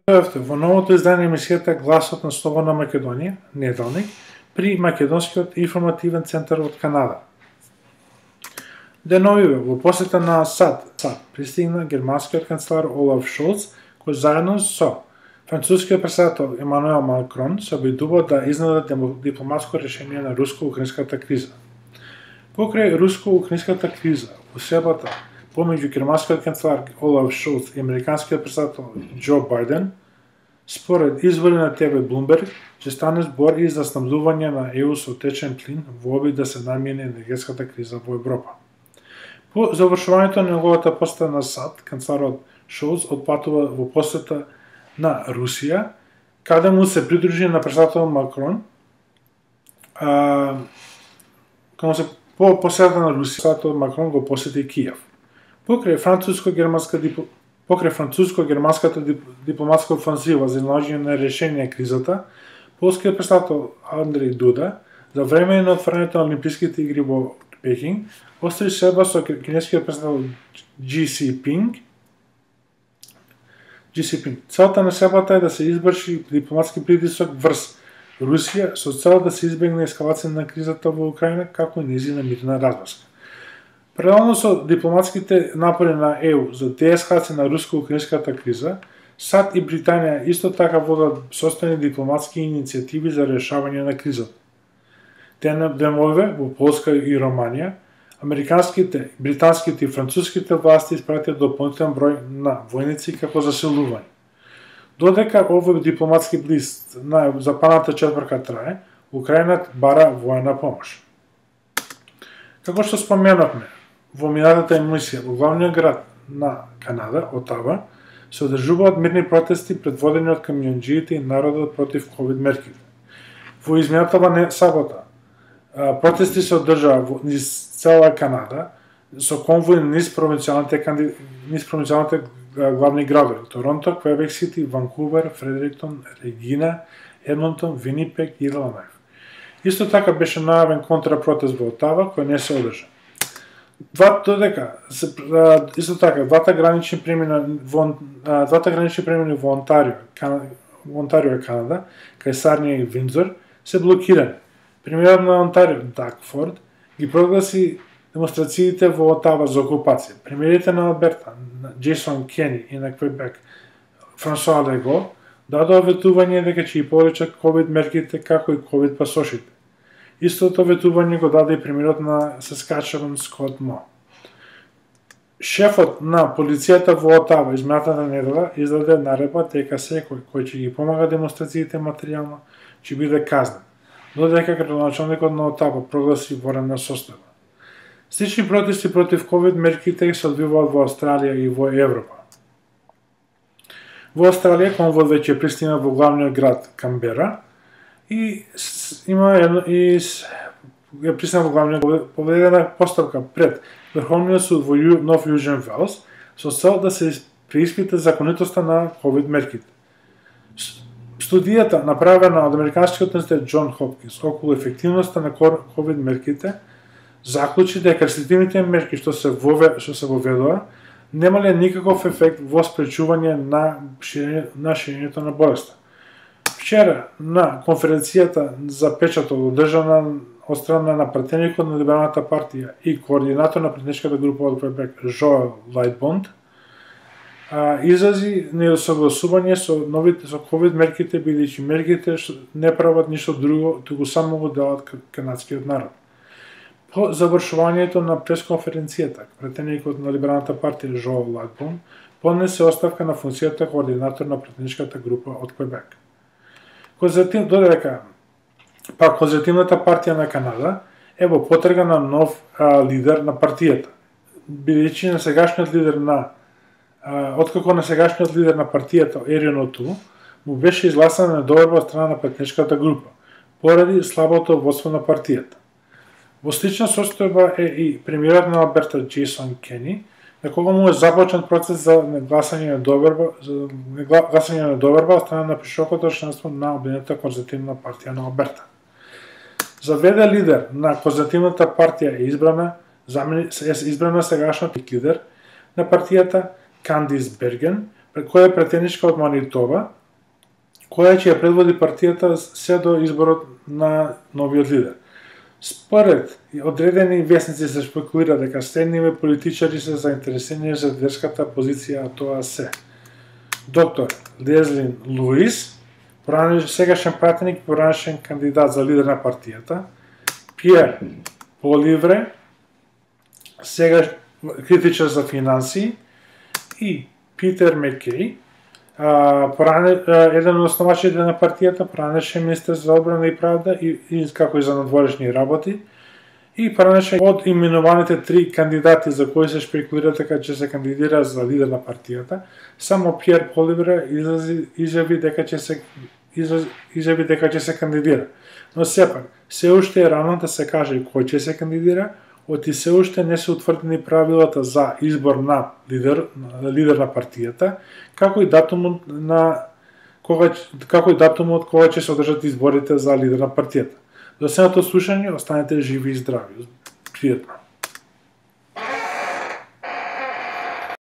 Во новото издание емисијата Гласот на Слободна Македонија, неделник, при Македонскиот информативен центар од Канада. Деновиве, во посета на САД пристигна германскиот канцелар Олаф Шолц, кој заедно со францускиот претседател Емануел Макрон се обидува да изнедат дипломатско решение на руско-украинската криза. Покрај руско-украинската криза, усебата помеѓу германскиот канцелар Олаф Шолц и американскиот претседател Џо Бајден, според извори на ТВ Блумберг, ќе стане збор и за снабдување на ЕУ со течен плин во обид да се намине енергетската криза во Европа. По завршувањето на неговата посета на САД, канцеларот Шолц отпатува во посета на Русија, каде му се придружи на претседател Макрон. По посета на Русија, претседател Макрон го посети Киев. Покрај француско-германската дипломатска офанзива за наоѓање на решение на кризата, полскиот претседател Андрей Дуда, за време на отворањето на Олимписките игри во Пекинг, остри среба со кинескиот претседател Xi Jinping. Целта на сребата е да се изврши дипломатски притисок врз Русија со цел да се избегне ескалација на кризата во Украина, како и нејзина мирна разврска. Паралелно со дипломатските напори на ЕУ за деескалација на руско-украинската криза, САД и Британија исто така водат состојани дипломатски иницијативи за решавање на кризата. Деновиве во Полска и Романија, американските, британските и француските власти испратија дополнителен број на војници како заселување. Додека овој дипломатски блист на западната четврка трае, Украина бара војна помош. Како што споменавме, во минатата емисија во главниот град на Канада, Отава, се одржуваат мирни протести предводени од камионџиите и народот против ковид мерките. Во изминатава сабота, протести се одржаа низ цела Канада со конвои низ провинцијалните главни градови: Торонто, Квебек Сити, Ванкувер, Фредериктон, Регина, Едмонтон, Винипек и Иланов. Исто така беше најавен контрапротест во Отава, кој не се одржа. Двата гранични премини во Онтарио, Канада, кај Сарнија и Виндзор, се блокирани. Премиерот на Онтарио, Даг Форд, ги прогласи демонстрациите во Отава за окупација. Премиерите на Алберта, Джейсон Кени и на Квебек, Франсуа Лего, дадоа ветување дека ќе ги повеличат ковид мерките како и ковид пасошите. Истото ветување го даде и премиерот на Саскачеван Скот Мо. Шефот на полицијата во Отава изминатата недела издаде наредба дека секој кој ќе ги помага демонстрациите материјално ќе биде казнен, додека градоначалникот на Отава прогласи военна состојба. Слични протести против ковид мерките се одвиваат во Австралија и во Европа. Во Австралија конвојот веќе пристигна во главниот град Камбера и пристигна во главниот поведена постапка пред Врховниот суд во Нов Јужен Велс со цел да се преиспита законитоста на ковид мерките. Студијата направена од Американскиот универзитет Џон Хопкинс околу ефективноста на ковид мерките заклучи дека рестриктивните мерки што се воведоа немале никаков ефект во спречување на ширењето на болеста. Вчера на конференцијата за печатот одржана од страна на пратеникот на Либералната партија и координатор на пратеничката група од Квебек Жоел Лајтбонд изрази несогласување со ковид мерките, бидејќи мерките не прават ништо друго, туку само го делат канадскиот народ. По завршувањето на пресконференцијата, пратеникот на Либералната партија Жоел Лајтбонд поднесе оставка на функцијата координатор на пратеничката група од Квебек. Додека Конзервативната партија на Канада е во потрага на нов лидер на партијата, бидејќи откако на сегашниот лидер на партијата Ерин Оту му беше изгласана недоверба од страна на пратеничката група, поради слабото водство на партијата. Во слична состојба е и премиерот на Алберта Джейсон Кени, на кого му е започнат процес за гласање на недоверба од страна на пишокото членство на Обединетата конзервативна партија на Алберта. За ВД лидер на конзервативната партија е избрана сегашниот лидер на партијата Кандис Берген, која е претеничка од Манитоба, која ќе ја предводи партијата се до изборот на новиот лидер. Според одредени весници се спекулира дека следниве политичари се заинтересирани за лидерската позиција, а тоа се доктор Лезли Луис, сегашен пратеник, поранешен кандидат за лидер на партијата, Пиер Поливре, сега критичар за финансии, и Питер Мекеј, еден од основачите на партијата, поранешен министер за одбрана и правда и како и за надворешни работи, и поранешен од именуваните 3 кандидати за кои се шпекулира дека ќе се кандидира за лидер на партијата, само Пиер Поливре изјави дека ќе се кандидира. Но сепак, се уште е рано да се каже кој ќе се кандидира, оти се уште не се утврдени правилата за избор на лидер на партијата, како и датумот кога ќе се одржат изборите за лидер на партијата. До следното слушање, останете живи и здрави. Пријатно.